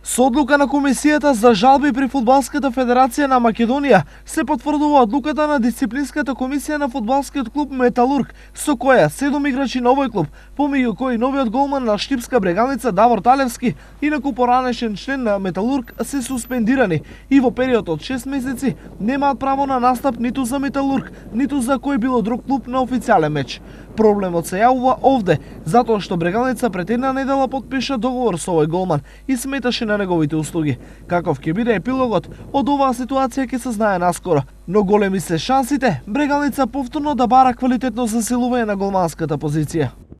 Со одлука на Комисијата за жалби при Фудбалската федерација на Македонија се потврдува одлуката на Дисциплинската комисија на фудбалскиот клуб Металург, со која 7 играчи на овој клуб, помеѓу кои новиот голман на Штипска Брегалница Давор Талевски и неколку поранешен член на Металург се суспендирани и во период од 6 месеци немаат право на настап ниту за Металург, ниту за кој било друг клуб на официјален меч. Проблемот се јавува овде, затоа што Брегалница пред една недела потпиша договор со овој голман и сметаше на неговите услуги. Каков ќе биде епилогот, од оваа ситуација ќе се знае наскоро, но големи се шансите Брегалница повторно да бара квалитетно засилување на голманската позиција.